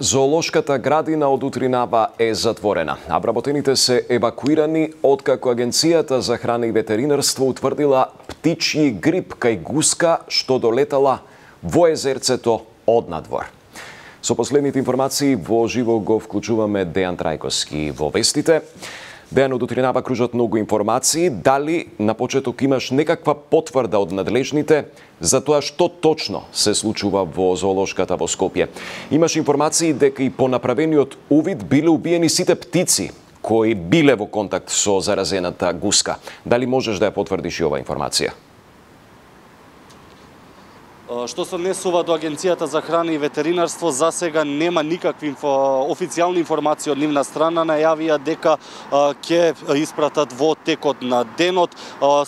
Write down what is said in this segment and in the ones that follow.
Зоолошката градина од утринава е затворена, а вработените се евакуирани откако Агенцијата за храна и ветеринарство утврдила птичји грип кај гуска што долетала во езерцето од надвор. Со последните информации во живо го вклучуваме Дејан Трајковски во вестите. Дејан, од утринава кружат многу информации. Дали на почеток имаш некаква потврда од надлежните за тоа што точно се случува во зоолошката во Скопје? Имаш информации дека и по направениот увид биле убиени сите птици кои биле во контакт со заразената гуска. Дали можеш да ја потврдиш и оваа информација? Што се однесува до Агенцијата за храна и ветеринарство, за сега нема никакви официјални информации од нивна страна. Најавија дека ќе испратат во текот на денот.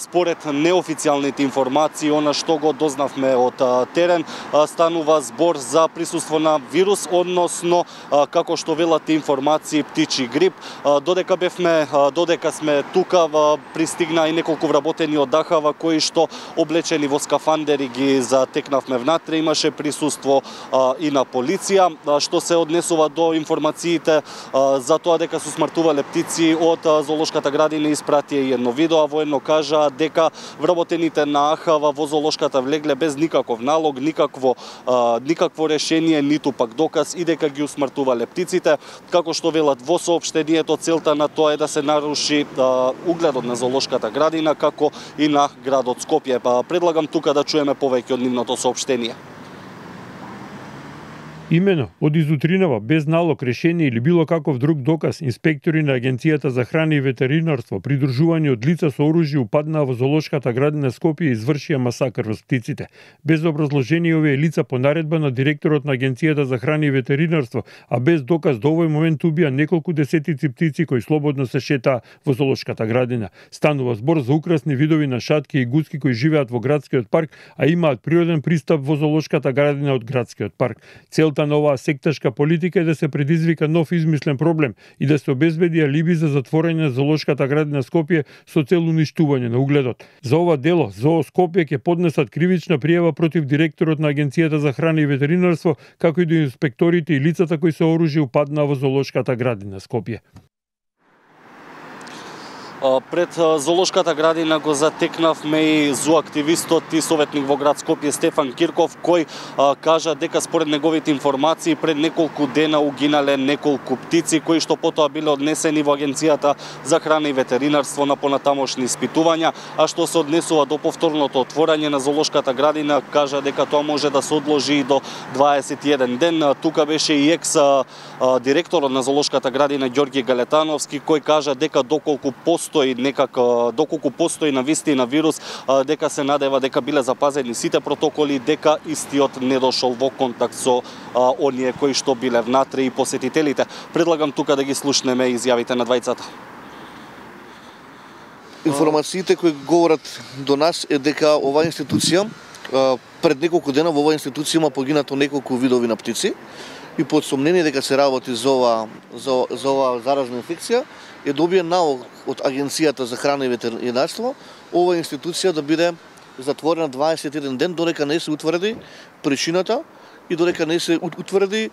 Според неофицијалните информации, она што го дознавме од терен, станува збор за присуство на вирус, односно како што велат информации птичји грип. Додека сме тука, пристигна и неколку вработени од Дахава кои што облечени во скафандери ги затекнавме внатре, имаше присуство и на полиција. Што се однесува до информациите за тоа дека се смртувале птици од зоолошката градина, испратија и едно видео, воедно кажа дека вработените на Ахава во зоолошката влегле без никаков налог, никакво решение, ниту пак доказ и дека ги усмртувале птиците. Како што велат во соопштението, целта на тоа е да се наруши угледот на зоолошката градина, како и на градот Скопје. Предлагам тука да чуеме повеќе од нивното соопштение. Имено, од изутринава, без налог, решение или било каков друг доказ, инспектори на Агенцијата за храна и ветеринарство, придружувани од лица со оружје, упаднаа во зоолошката градина Скопје и извршија масакр во птиците. Без образложение овие лица по наредба на директорот на Агенцијата за храна и ветеринарство, а без доказ до овој момент убија неколку десетици птици кои слободно се шетаа во зоолошката градина. Станува збор за украсни видови на шатки и гуски кои живеат во градскиот парк, а имаат природен пристап во зоолошката градина од градскиот парк. Целта на оваа секташка политика е да се предизвика нов измислен проблем и да се обезбеди алиби за затворање на зоолошката градина Скопје со цел уништување на угледот. За ова дело ЗОО Скопје ќе поднесат кривична пријава против директорот на Агенцијата за храна и ветеринарство, како и до инспекторите и лицата кои со оружје упаднаа во зоолошката градина Скопје. Пред зоолошката градина го затекнавме и зооактивистот и советник во град Скопје Стефан Кирков, кој кажа дека според неговите информации пред неколку дена угинале неколку птици кои што потоа биле однесени во Агенцијата за храна и ветеринарство на понатамошни испитувања, а што се однесува до повторното отворање на зоолошката градина, кажа дека тоа може да се одложи и до 21 ден. Тука беше и директорот на зоолошката градина Ѓорги Галетановски, кој кажа дека доколку постои навистина вирус, дека се надева дека биле запазени сите протоколи, дека истиот не дошол во контакт со оние кои што биле внатре и посетителите. Предлагам тука да ги слушнеме изјавите на двајцата. Информациите кои говорат до нас е дека оваа институција пред неколку дена во оваа институција има погинато неколку видови на птици и под сомнение дека се работи за оваа заразна инфекција е добија налог од Агенцијата за храна и ветеринарство оваа институција да биде затворена 21 ден додека не се утврди причината и додека не се утврди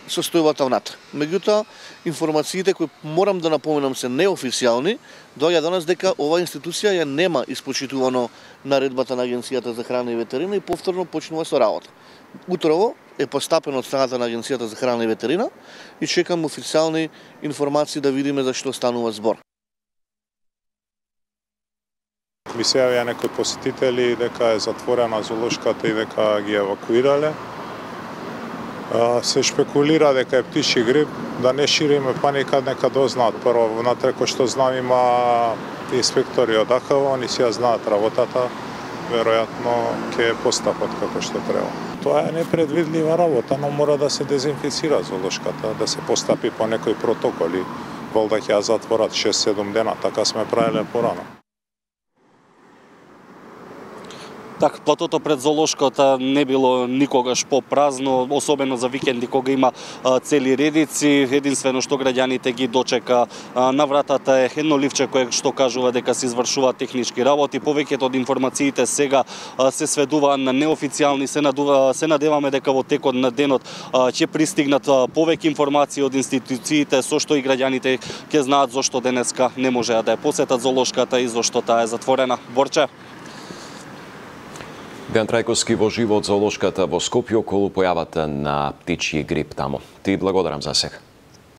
состојбата внатре. Меѓутоа, информациите кои морам да напоменам се неофицијални, доаѓа до нас дека оваа институција ја нема испочитувано наредбата на Агенцијата за храна и ветерина и повторно почнува со работа. Утрово е постапено од страната на Агенцијата за храна и ветерина и чекам официјални информации да видиме за што станува збор. Ми се јавија некои посетители дека е затворена зоолошката и дека ги евакуирале. Се шпекулира дека е птичји грип, да не шириме паника, нека дознаат прво внатре, кој што знам има инспектори од Ахава, они си ја знаат работата, веројатно ќе постапат како што треба. Тоа е непредвидлива работа, но мора да се дезинфицира зоолошката, да се постапи по некои протоколи, валда ќе ја затворат 6-7 дена, така сме правеле порано. Так, платото пред зоолошката не било никогаш попразно, особено за викенди кога има цели редици. Единствено што граѓаните ги дочека на вратата е едно ливче кое што кажува дека се извршуваат технички работи. Повеќето од информациите сега се сведуваат на неофицијални. Се надеваме дека во текот на денот ќе пристигнат повеќе информации од институциите, со што и граѓаните ќе знаат зошто денеска не можеа да ја посетат зоолошката и зошто таа е затворена. Борче. Дејан Трајковски во живо од зоолошката во Скопје околу појавата на птичји грип таму. Ти благодарам за сега.